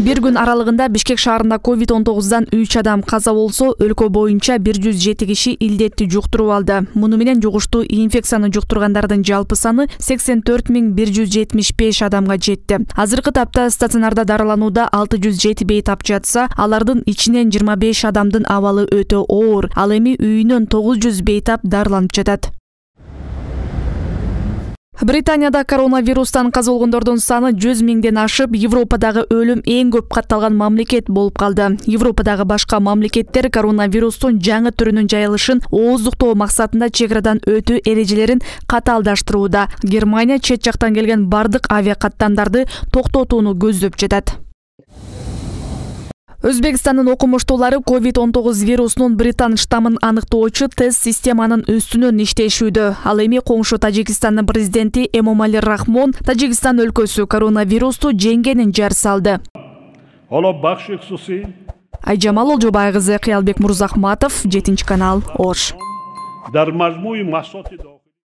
Бир күн аралыгында Бишкек шаарында COVID-19 3 адам каза болсо, өлкө боюнча 107 киши илдетти жуктуруп алды. Муну менен жугуштуу инфекцияны жуктургандардын жалпы саны 84.175 адамга жетти. Азыркы тапта стационарда дарыланууда 607 бейтап жатса, алардын ичинен 25 адамдын абалы өтө оор. Ал эми үйүнөн 900 бейтап дарыланып жатат. Британияда коронавирустан каза болгондордун саны 100 миңден ашып, Европадагы өлүм эң көп катталган мамлекет болуп калды. Европадагы башка мамлекеттер коронавирустун жаңы түрүнүн жайылышын ооздуктоо максатында чек арадан өтүү эрежелерин катаалдаштырууда. Германия чет жактан келген бардык авиакаттамдарды токтотууну көздөп жатат. Өзбекстандын окумуштуулары COVID-19 вирусунун британ штаммын аныктоочу тест системанын үстүнөн иштешүүдө. Ал эми коңшу Тажикстандын президенти Эмомали Рахмон Тажикстан өлкөсү коронавирусту жеңгенин жар салды. Айжамал Олжобай кызы, Кыялбек Мурзахматов, 7 канал, Ош.